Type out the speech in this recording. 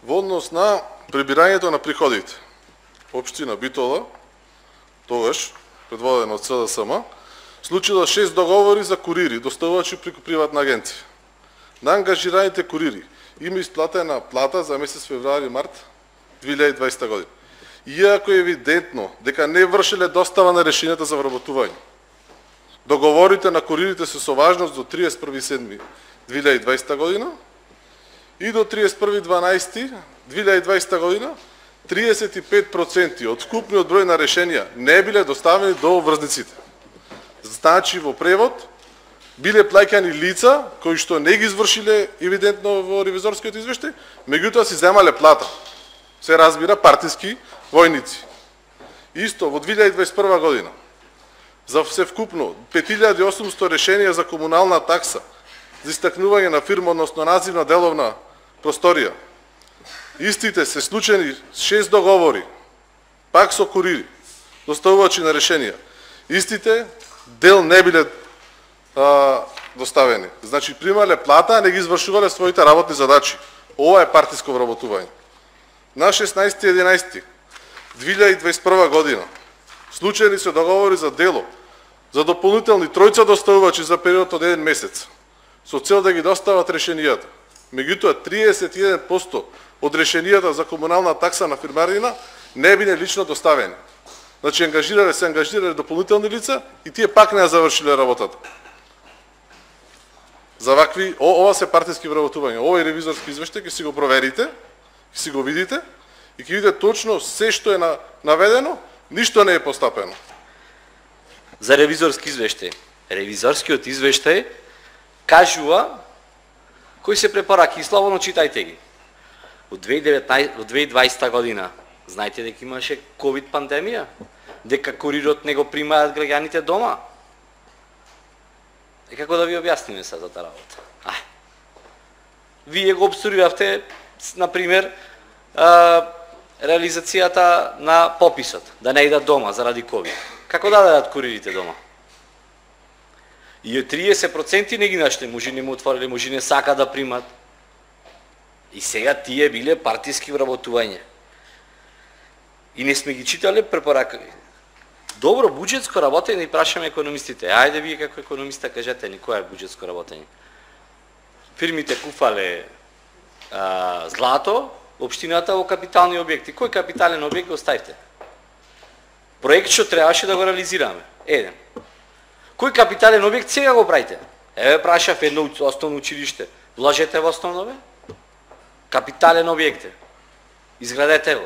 Во однос на прибирањето на приходите. Општина Битола, тогаш, предводена од СДСМ, случила 6 договори за курири, доставувачи преку приватна агенција. На ангажираните курири има исплатена плата за месец февруари-март 2020 година. Иако е евидентно дека не вршеле достава на решенијата за вработување. Договорите на куририте се со важност до 31.7.2020 година и до 31.12.2020 година 35% од вкупниот број на решенија не биле доставени до врзниците. Значи во превод биле плаќани лица кои што не ги извршиле евидентно во ревизорскиот извештај, меѓутоа си земале плата. Се разбира партиски војници. Исто во 2021 година за всевкупно 5800 решенија за комунална такса за истакнување на фирма, односно називна деловна просторија. Истите се склучени 6 договори, пак со курири, доставувачи на решенија. Истите дел не биле доставени. Значи примале плата, а не ги извршувале своите работни задачи. Ова е партиско вработување. На 16.11.2021 година случајни се договори за дело за дополнителни тројца доставувачи за период од 1 месец со цел да ги достават решенијата. Меѓутоа 31% од решенијата за комунална такса на фирмарина не биле лично доставени. Значи се ангажирале дополнителни лица и тие пак не ја завршиле работата. За вакви, ова се партиски вработувања. Овој ревизорски извештај ќе си го проверите, ќе си го видите и ќе видите точно се што е наведено, ништо не е постапено. За ревизорски извештај. Ревизорскиот извештај кажува кои се препораки и слободно читајте ги. Во 2020 година знаете дека имаше ковид пандемија, дека курирот не го примаат граѓаните дома. И како да ви објасниме сега таа работа? Вие го обструиравте, например, реализацијата на пописот, да не идат дома заради ковид. Како да дадат куририте дома? И 30% не ги нашли, може не му отворили, може не сака да примат. И сега тие биле партиски вработување. И не сме ги читале препораки. Добро, буџетско работење, и прашаме економистите. Ајде вие како економиста кажете ни која е буџетско работење. Фирмите куфале злато, општината во капитални објекти. Кој капитален објект го оставите? Проект што требаше да го реализираме. Еден. Кој капитален објект сега го правите? Еве прашав едно основно училиште. Вложете во основно, бе? Капитален објект. Изградете го.